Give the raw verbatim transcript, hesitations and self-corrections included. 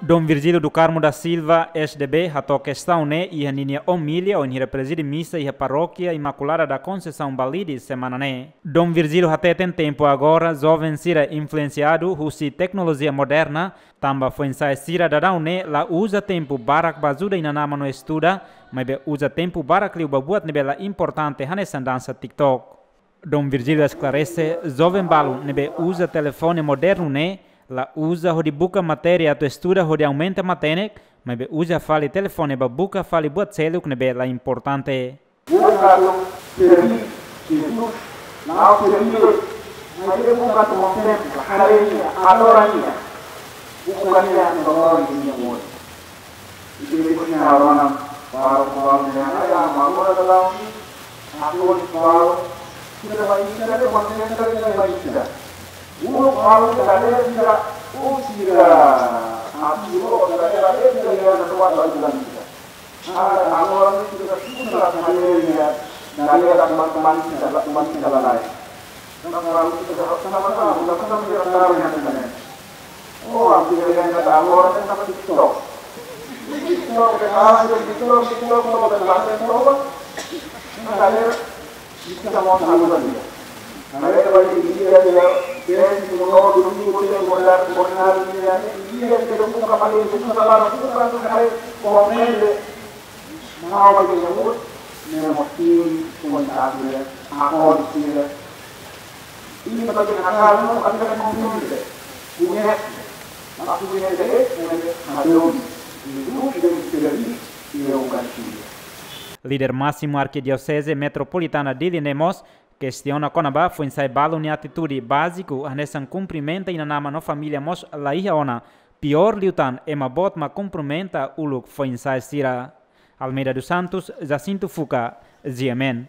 Dom Virgílio do Carmo da Silva, S D B, hato'o kestaun ne'e iha ninia omilia wainhira prezide misa iha Parókia Imaculada da Conceição Balide semana ne'e. Dom Virgílio hateten tempu agora joven sira influensiadu husi teknolojia moderna, tanba foin-sa'e sira daudaun ne'e la uza tempu barak ba ajuda inan-aman no estuda, maibé uza tempu barak liu ba buat ne'ebé la importante hanesan dansa TikTok. Dom Virgílio esklarese, joven balu ne'ebé uza telefone modernu ne'e la uza hodi buka matéria atu estuda hodi aumenta matenek, maibé uza fali telefone ba buka fali buat seluk ne'ebé la importante. Buka atu serví Jesus, la'ós serví, maibé buka atu kontempla, haree Nia, adora Nia, buka Nia no moris Nia moris. Ita-nia rona para kual nia ya mama dalam aku di kual kita baca kita baca kita baca. Guru kual kita ada tidak usira asiro kita ada tidak yang kedua lagi dalam kita. Ada orang itu kita susah kali ya dari teman-teman kita teman kita lain. Nah, kalau kita sama-sama sama-sama kita taruh yang lain. Oh, aku jadi yang kata orang kan sama TikTok. TikTok, TikTok, TikTok, TikTok, TikTok, TikTok. Nah, saya bisa mau sama dia. Nah, saya balik di dia, dia, dia itu mau dulu, dia mau dari, mau dari dia, dia itu bukan kembali, bukan salah, bukan tuh hari komen deh. Mau bagi nyamuk, memang tim, kontak dia, akun dia. Ini bagi akal, tapi kan komplit deh. Punya, maksudnya deh, punya, ada, itu, tidak, tidak, tidak, bukan dia. Líder másimu Arkidioseze Metropolitana Dili ne'e mós kestiona kona-ba foin-sa'e balu nia atitude báziku hanesan kumprimenta inan-aman no família mós la iha ona, piór liután ema boot mak kumprimenta uluk foin-sa'e sira. Almeida dos Santos, Jacinto Fuca, G M N.